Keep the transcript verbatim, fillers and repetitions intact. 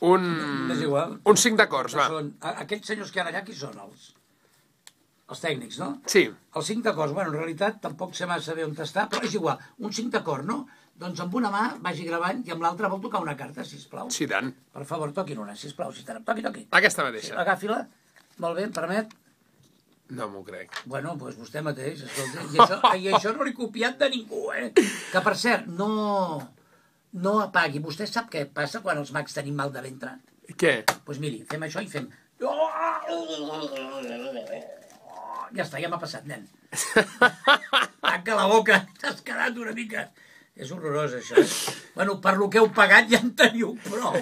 Un... És igual. Un cinc d'acords, va. Són, aquests senyors que hi ha allà, qui són els? Els tècnics, no? Sí. Els cinc d'acords, bueno, en realitat tampoc sé massa bé on està, però és igual. Un cinc d'acord, no? Doncs amb una mà vagi gravant i amb l'altra vol tocar una carta, sisplau. Sí, tant. Per favor, toquin una, sisplau. Si toqui, toqui. Aquesta mateixa. Sí, agafi-la. Molt bé, em permet? No m'ho crec. Bueno, doncs vostè mateix, escolta. I això, i això no l'he copiat de ningú, eh? Que, per cert, no... No apagui. Vostè sap què passa quan els mags tenim mal de ventre? Què? Doncs pues miri, fem això i fem... Ja està, ja m'ha passat, nen. Tanca la boca, t'has quedat una mica... És horrorós, això, eh? Bueno, per lo que heu pagat ja en teniu prou.